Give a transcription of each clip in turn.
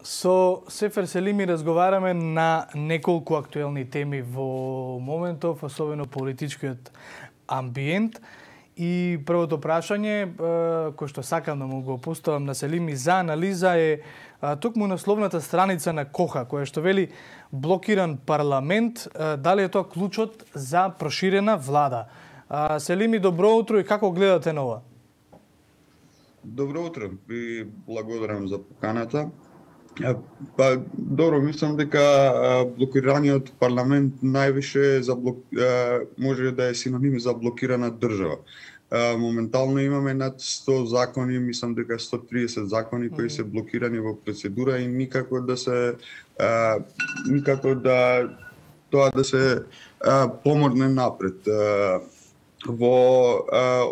Со Сефер Селими разговараме на неколку актуелни теми во моментов, особено политичкиот амбиент. И првото прашање, кој што сакам да му го поставам на Селими за анализа е токму насловната страница на Коха, која што вели блокиран парламент, дали е тоа клучот за проширена влада. Селими, добро утро и како гледате на ова? Добро утро и благодарам за поканата. Па, добро, мислам дека блокираниот парламент највише може да е синоним за блокирана држава. Моментално имаме над 100 закони, мислам дека 130 закони кои се блокирани во процедура и никако да тоа да се поморне напред. Во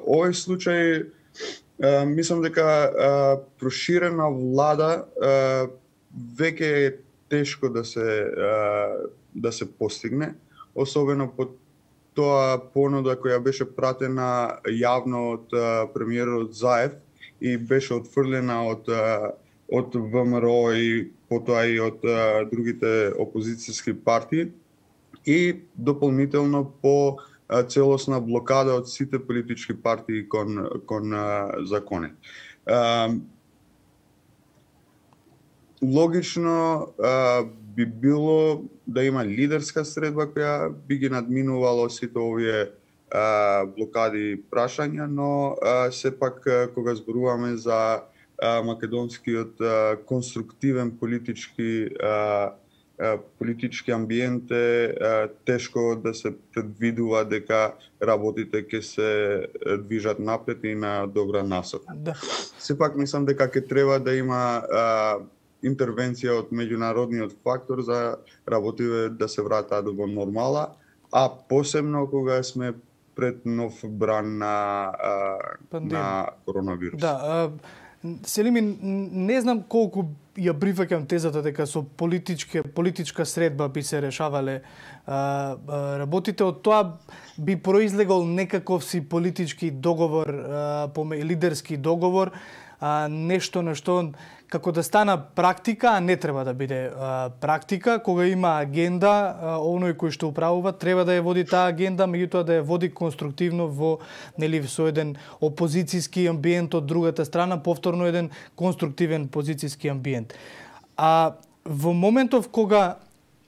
овој случај мислам дека проширена влада веќе е тешко да се постигне, особено по тоа понуда која беше пратена јавно од премиерот Заев и беше отфрлена од ВМРО и потоа и од другите опозицијски партии и дополнително по целосна блокада од сите политички партии кон закони. Логично би било да има лидерска средба која би ги надминувала сите овие блокади и прашања, но сепак кога зборуваме за македонскиот конструктивен политички амбиент е тешко да се предвидува дека работите ќе се движат напред и на добра насока. Да. Сепак мислам дека ќе треба да има интервенција од меѓународниот фактор за работите да се вратат во нормала, а посебно кога сме пред нов бран на коронавирус. Да, Селими, не знам колку ја прифаќам тезата дека со политичка средба би се решавале работите. Од тоа би произлегол некаков си политички договор, лидерски договор, нешто на што како да стана практика, а не треба да биде практика, кога има агенда, оној кој што управува треба да ја води таа агенда, меѓутоа да ја води конструктивно со еден опозицијски амбиент од другата страна, повторно еден конструктивен позицијски амбиент. А во моментов кога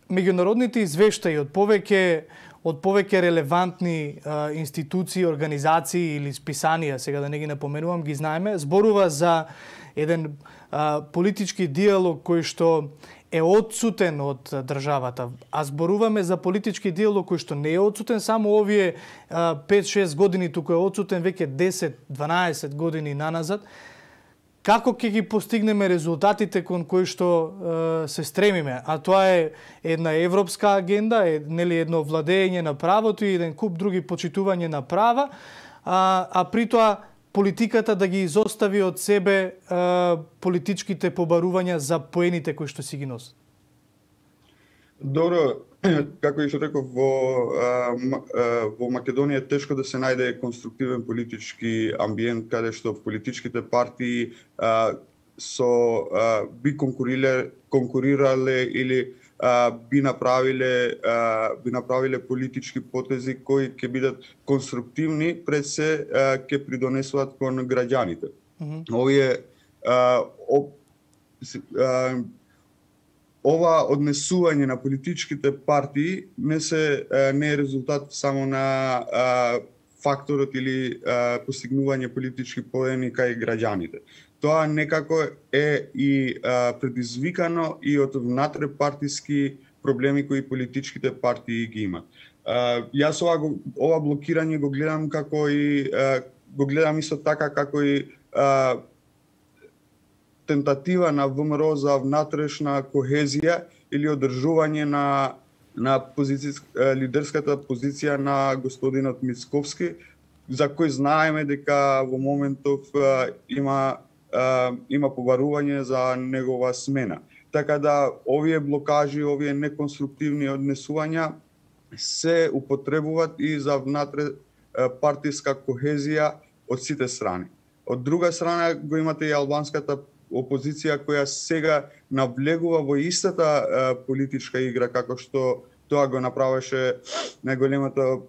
меѓународните извештаи од повеќе релевантни институции, организации или списанија, сега да не ги напоменувам, ги знаеме, зборува за еден политички диалог кој што е отсутен од државата. А зборуваме за политички диалог кој што не е отсутен само овие 5-6 години, туку е отсутен веќе 10-12 години наназад. Како ќе ги постигнеме резултатите кон кои што се стремиме? А тоа е една европска агенда, едно владење на правото и еден куп други почитување на права, а при тоа политиката да ги изостави од себе политичките побарувања за поените кои што си ги носат. Добро, како и што реков, во Македонија е тешко да се најде конструктивен политички амбиент каде што политичките партии би конкурирале или би направиле политички потези кои ќе бидат конструктивни, пред се ќе придонесуваат кон граѓаните. Ова однесување на политичките партии не е резултат само на факторот или постигнување политички поени кај граѓаните. Тоа некако е и предизвикано и од внатре-партиски проблеми кои политичките партии ги имат. Јас ова блокирање го гледам исто така како и тентатива на ВМРО за внатрешна кохезија или одржување на лидерската позиција на господинот Мицковски, за кој знаеме дека во моментов има побарување за негова смена. Така да овие блокажи, овие неконструктивни однесувања се употребуваат и за внатре партиска кохезија од сите страни. Од друга страна го имате и албанската опозиција која сега навлегува во истата политичка игра како што тоа го направеше најголемата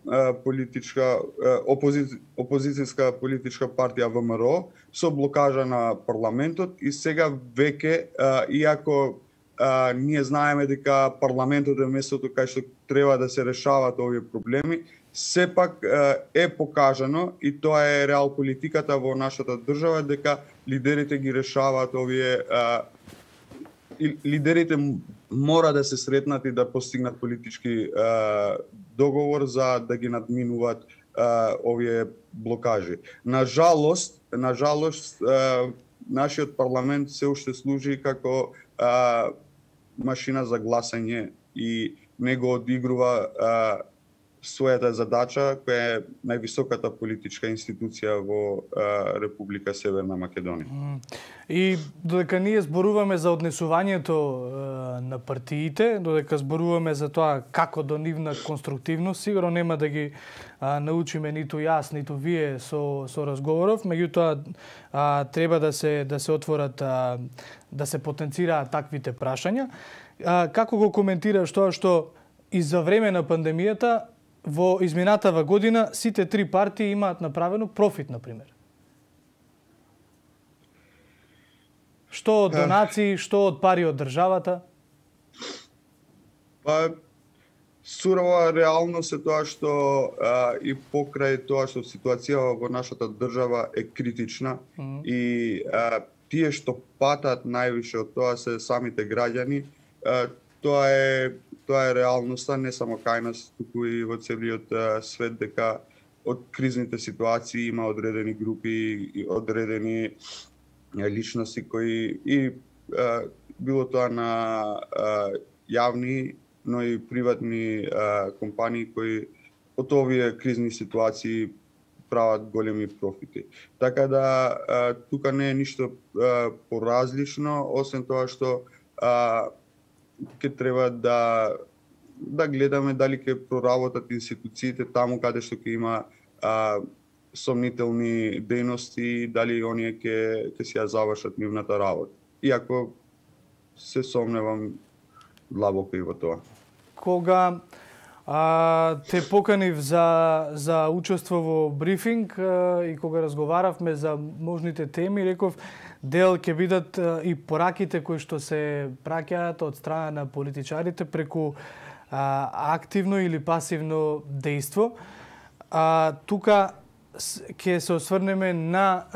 политичка опозицијска политичка партија ВМРО со блокажа на парламентот и сега веќе иако ние знаеме дека парламентот е местото кај што треба да се решаваат овие проблеми, сепак е покажано и тоа е реал политиката во нашата држава дека лидерите ги решаваат овие лидерите мора да се сретнат и да постигнат политички договор за да ги надминуваат овие блокажи. На жалост, нашиот парламент се уште служи како машина за гласање и него одигрува својата задача, која е највисоката политичка институција во Република Северна Македонија. И додека ние зборуваме за однесувањето на партиите, додека зборуваме за тоа како до нивна конструктивност, сигурно нема да ги научиме ниту јас, ниту вие со разговоров, меѓутоа треба да се отворат, да се потенцираат таквите прашања. Како го коментираш тоа што и за време на пандемијата во изминатава година сите три партии имаат направено профит, например? Што од донации, што од пари од државата? Па, сурова реалност е тоа што и покрај тоа што ситуацијава во нашата држава е критична и тие што патат највише од тоа се самите граѓани. Тоа е реалноста не само кај нас, туку и во целиот свет, дека од кризните ситуации има одредени групи и одредени личности кои и било тоа на јавни, но и приватни компании кои од овие кризни ситуации прават големи профити. Така да тука не е ништо поразлично, освен тоа што ќе треба да гледаме дали ќе проработат институциите таму каде што ќе има сомнителни дејности, дали оние ќе си ја завршат нивната работа. Иако се сомневам длабоко и во тоа. Кога те поканив за учество во брифинг и кога разговаравме за можните теми, реков дел ќе бидат и пораките кои што се праќаат од страна на политичарите преку активно или пасивно дејство. Тука ќе се осврнеме на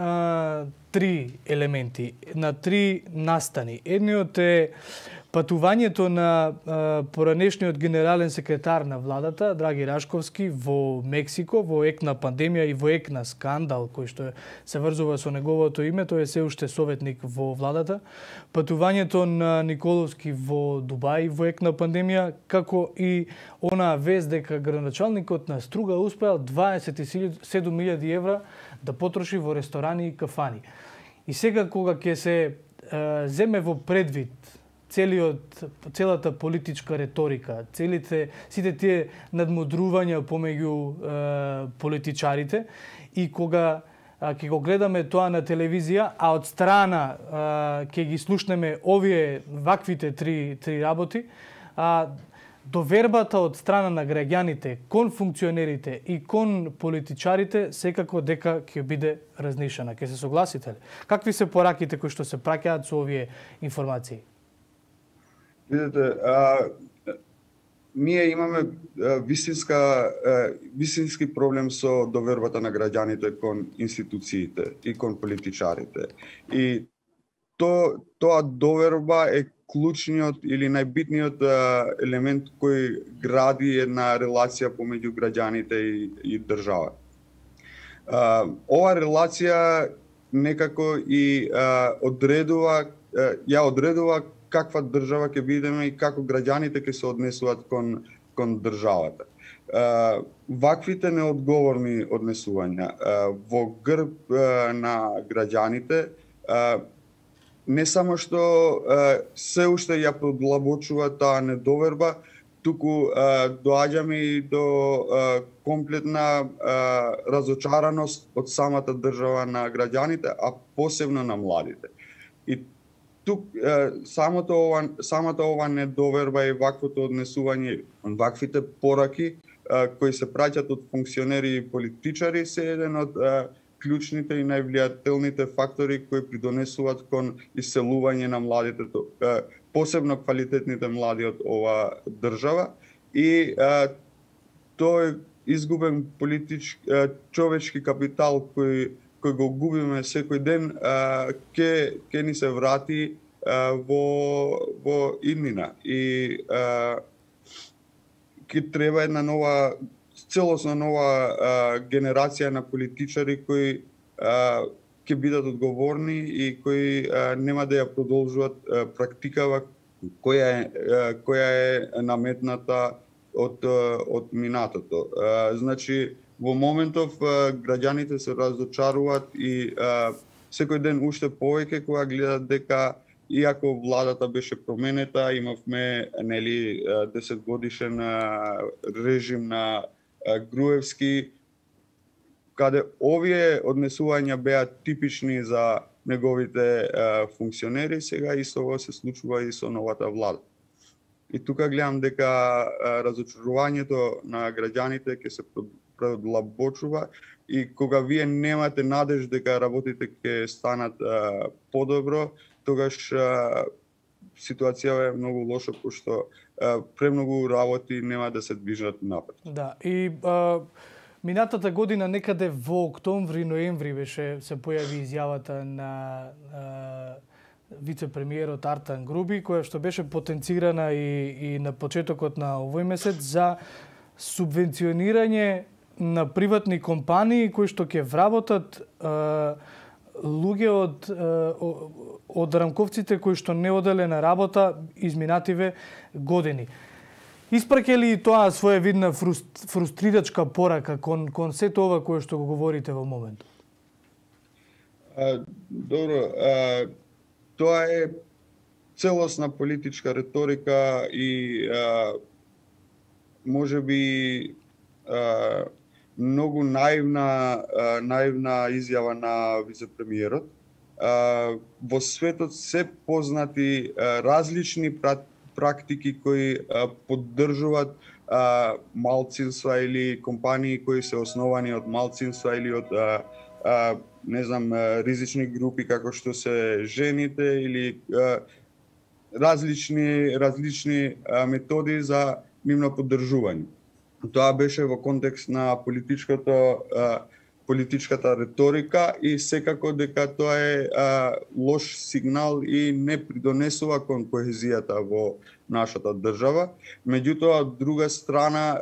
три елементи, на три настани. Едниот е патувањето на поранешниот генерален секретар на владата, Драги Рашковски, во Мексико, во ек на пандемија и во ек на скандал, кој што се врзува со неговото име, тој е се уште советник во владата. Патувањето на Николовски во Дубај во ек на пандемија, како и она вест дека градоначалникот на Струга успеал 27.000 евра да потроши во ресторани и кафани. И сега кога ќе се земе во предвид целата политичка реторика, сите тие надмудрувања помеѓу политичарите и кога ќе го гледаме тоа на телевизија, а од страна ќе ги слушнеме ваквите три работи, довербата од страна на граѓаните кон функционерите и кон политичарите секако дека ќе биде разнишена. Ќе се согласите ли? Какви се пораките кои што се праќаат со овие информации? Видете, ние имаме вистински проблем со довербата на граѓаните кон институциите и кон политичарите. И тоа доверба е клучниот или најбитниот елемент кој гради една релација помеѓу граѓаните и држава. Ова релација некако и одредува каква држава ќе бидеме и како граѓаните ќе се однесуваат кон државата. Ваквите неодговорни однесувања во грб на граѓаните не само што се уште ја продлабочува таа недоверба, туку доаѓаме и до комплетна разочараност од самата држава на граѓаните, а посебно на младите. И тук самата ова недоверба и ваквото однесување, ваквите пораки кои се праќат од функционери и политичари се еден од клучните и највлијателните фактори кои придонесуваат кон иселување на младите, посебно квалитетните млади од ова држава, и тој изгубен човечки капитал кој го губиме секој ден ќе ни се врати во иднина, и ќе треба една нова, целосно нова генерација на политичари кои ќе бидат одговорни и кои нема да ја продолжуваат практикава која е наметната од минатото. Значи, во моментов граѓаните се разочаруваат и секој ден уште повеќе кога гледат дека иако владата беше променета, имавме 10 годишен режим на Груевски, каде овие однесувања беа типични за неговите функционери, сега исто се случува и со новата влада. И тука гледам дека разочарувањето на граѓаните ќе се продлабочува, и кога вие немате надеж дека работите ќе станат подобро, тогаш ситуацијава е многу лоша, пошто премногу работи нема да се движат напред. Да, и минатата година некаде во октомври, ноември се појави изјавата на вице-премиерот Артан Груби, која што беше потенцирана и на почетокот на овој месец за субвенционирање на приватни компании кои што ќе вработат луѓе од рамковците кои што не оделе на работа изминативе години. Испраќа ли тоа своевидна фрустрирачка порака кон сето ова кое што го говорите во моментот? Добро, тоа е целосна политичка риторика и можеби многу наивна изјава на вице-премиерот. Во светот се познати различни практики кои поддржуваат малцинства или компании кои се основани од малцинства или од ризични групи како што се жените или различни методи за нивно поддржување. Тоа беше во контекст на политичката риторика и секако дека тоа е лош сигнал и не придонесува кон коезијата во нашата држава. Меѓутоа, од друга страна,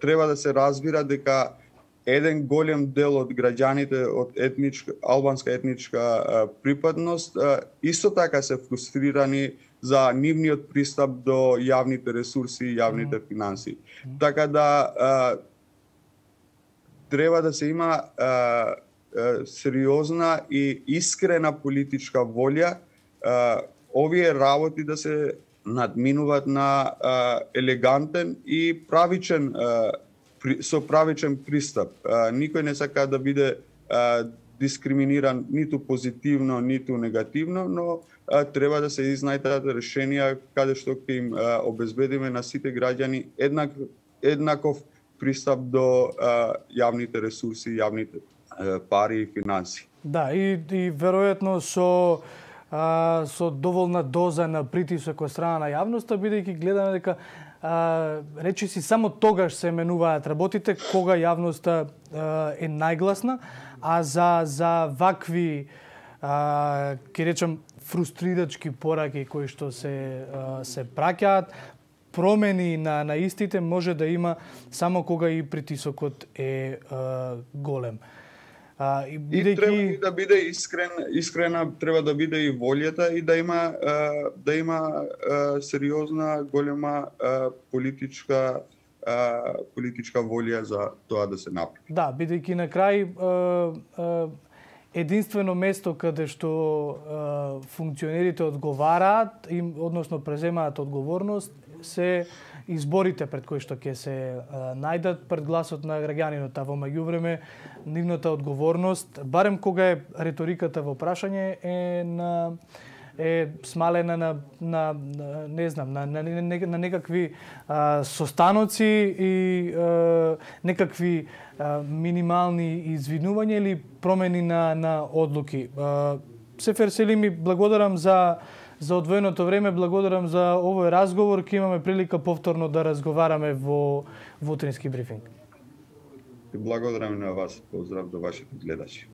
треба да се разбира дека еден голем дел од граѓаните од албанска етничка припадност исто така се фрустрирани за нивниот пристап до јавните ресурси и јавните финансии. Така да треба да се има сериозна и искрена политичка волја овие работи да се надминуваат на елегантен и правичен со правичен пристап. Никој не сака да биде дискриминиран ниту позитивно, ниту негативно, но треба да се изнајдат решенија каде што ќе им обезбедиме на сите граѓани еднаков пристап до јавните ресурси, јавните пари и финанси. Да, и веројатно со доволна доза на притисок од страна на јавноста, бидејќи гледаме дека речиси само тогаш се менуваат работите кога јавноста е најгласна, а за вакви ќе речам фрустрирачки пораки кои што се праќаат, промени на истите може да има само кога и притисокот е голем. И треба да биде искрена треба да биде и волјата и да има сериозна, голема политичка волја за тоа да се направи. Да, бидејќи на крај единствено место каде што функционерите одговараат, односно преземаат одговорност, се изборите пред кои што ќе се најдат пред гласот на граѓанинот, а во меѓувреме нивната одговорност, барем кога е риториката во прашање е смалена на не знам, на некакви состаноци и некакви минимални извинувања или промени на одлуки. Сефер Селими, благодарам за одвоеното време, благодарам за овој разговор. Ќе имаме прилика повторно да разговараме во утрински брифинг. Благодарам на вас, поздрав до вашите гледачи.